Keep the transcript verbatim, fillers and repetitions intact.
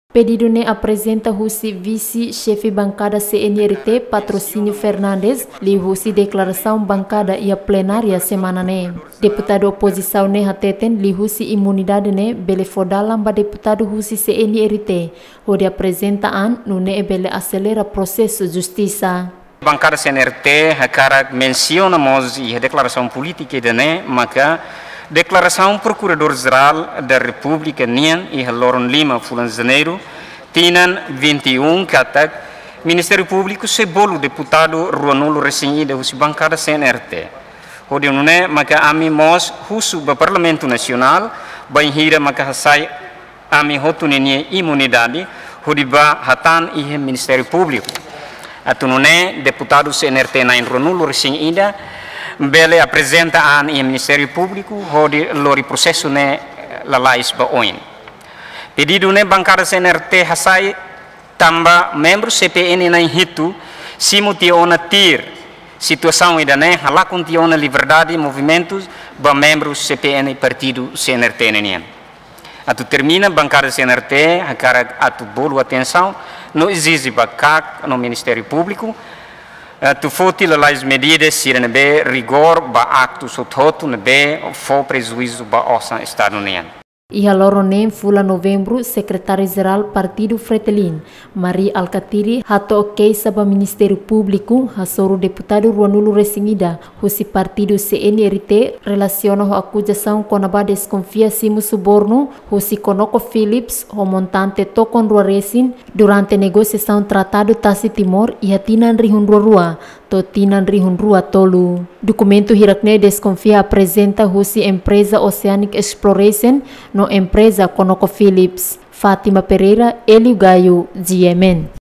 Pedidu ne'e aprezenta husi vise xefe bankada C N R T, Patrocínio Fernandes, liuhusi deklarasaun bankada iha plenária semana ne'e. Deputadu opozisaun ne'e hateten liuhusi imunidade ne'e bele fó dalan ba deputadu husi C N R T hodi aprezenta an, nune'e bele aselera prosesu justisa. Bankada C N R T hakarak mensiona mós iha deklarasaun polítika ida-ne'e maka deklarasaun Prokuradór Jerál da Repúblika nian iha loron lima fulan Janeiru tinan vinte e um katak Ministériu Públiku sei bolu deputadu ruanulu resin ida husi bankada C N R T. Hodi nune'e maka ami mós husu ba Parlamentu Nasionál bainhira maka hasai ami hotu ninia imunidade hodi bá hatán iha Ministériu Públiku. Atu nune'e deputadu C N R T na'in ruanulu resin ida bele aprezenta an iha Ministériu Públiku hodi lori prosesu ne'e lalais ba oin. Pedidu ne'e bankada C N R T hasai tanba membru C P N na'in hitu simu tiha ona tuir situasaun ida-ne'e, halakon tiha ona liberdade movimentu ba membru C P N partidu C N R T nian. Atu termina, bankada C N R T hakarak atu bolu atensaun no ezije ba KAK no Ministériu Públiku atu foti lalais medida sira ne'ebé rigór ba aktus hotu-hotu ne'ebé fó prejuízu ba osan Estadu nian. Iha loron neen fulan Novembru, Sekretáriu-Jerál Partidu Fretilin, Mari Alkatiri, hato'o keixa ba Ministériu Públiku hasoru deputadu ruanulu resin ida husi partidu C N R T relasiona ho akuzasaun kona-ba deskonfia simu subornu husi ConocoPhillips ho montante tokon rua resin durante negosiasaun Tratadu Tasi Timor iha tinan rihun rua rua to'o tinan rihun rua tolu. Dokumentu hirak-ne'e deskonfia aprezenta husi empreza Oceanic Exploration no empreza ConocoPhillips. Fátima Pereira, Hélio Gaio, G M N.